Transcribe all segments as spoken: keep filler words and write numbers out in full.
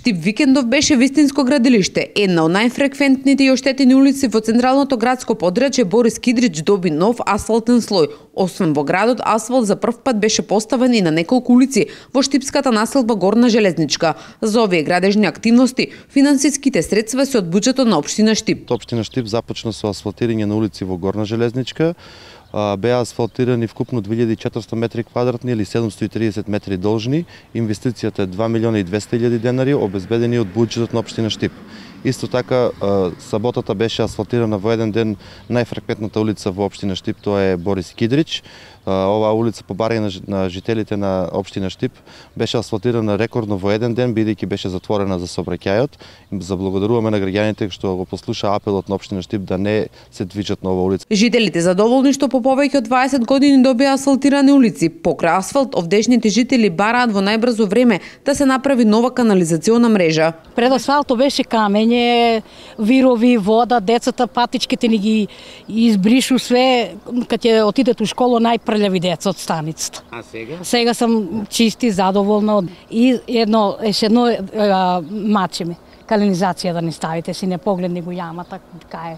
Штип Викендов беше вистинско градилиште. Една од најфреквентните и оштетени улици во централното градско подрачје Борис Кидрич доби нов асфалтен слој. Освен во градот, асфалт за прв пат беше поставен и на неколку улици во штипската населба Горна Железничка. За овие градежни активности, финансиските средства се од буџетот на општина Штип. Општина Штип започна со асфалтирање на улици во Горна Железничка. Беа асфалтирани вкупно две илјади и четиристотини метри квадратни или седумстотини и триесет метри должни. Инвестицијата е два милиона и двесте илјади денари, обезбедени од буџетот на општина Штип. Исто така, саботата беше асфалтирана во еден ден најфреквентната улица во општина Штип, тоа е Борис Кидрич. Оваа улица, по барање на жителите на општина Штип, беше асфалтирана рекордно во еден ден, бидејќи беше затворена за сообраќајот. Заблагодаруваме на граѓаните што го послуша апелот на општина Штип да не се движат на оваа улица. Жителите задоволни што по повеќе од дваесет години добија асфалтирани улици. Покрај асфалт, овдешните жители бараат во најбрзо време да се направи нова канализациона мрежа. Пред асфалто беше камење, вирови, вода, децата, патичките ни ги избришу све, кога ќе отидат у школа најпрљави деца од станицата. А сега? Сега сам чисти, задоволна и едно, еше едно мачеме. Канализација да не ставите, си не погледни го јамата, кај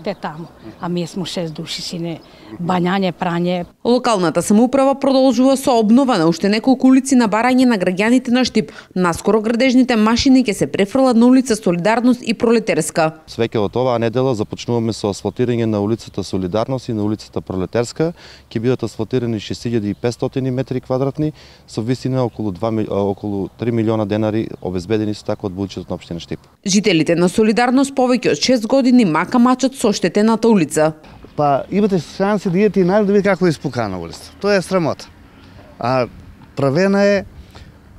те таму. А ние сме шест души, си не бањање, прање. Локалната самоуправа продолжува со обнова на уште неколку улици на барање на граѓаните на Штип. Наскоро градежните машини ќе се префрлат на улица Солидарност и Пролетерска. Свеќе од оваа недела започнуваме со асфалтирање на улицата Солидарност и на улицата Пролетерска. Ќе бидат асфалтирани шест илјади и петстотини метри квадратни со висина околу два, околу три милиона денари, обезбедени со така од буџетот на општина Штип. Жителите на Солидарност повеќе од шест години мака мачат со оштетената улица. Па имате шанси да идете и најде да видите како е испукана улица. Тоа е срамота. А правена е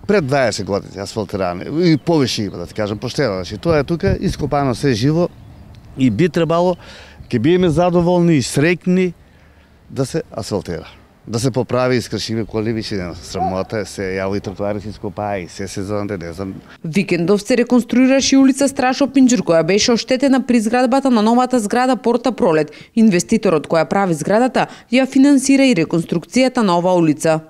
пред дваесет години асфалтирана и повеќе има, да ти кажам, поштено. Значи тоа е тука ископано се живо и би требало, ќе биеме задоволни и среќни да се асфалтира. Да се поправи и скршиме коли више не срамота, се јаво и тротоари се ископаа и се сезонте, не знам. Викендов се реконструираше улица Страшо Пинџур, која беше оштетена при изградбата на новата зграда Порта Пролет. Инвеститорот која прави зградата ја финансира и реконструкцијата на оваа улица.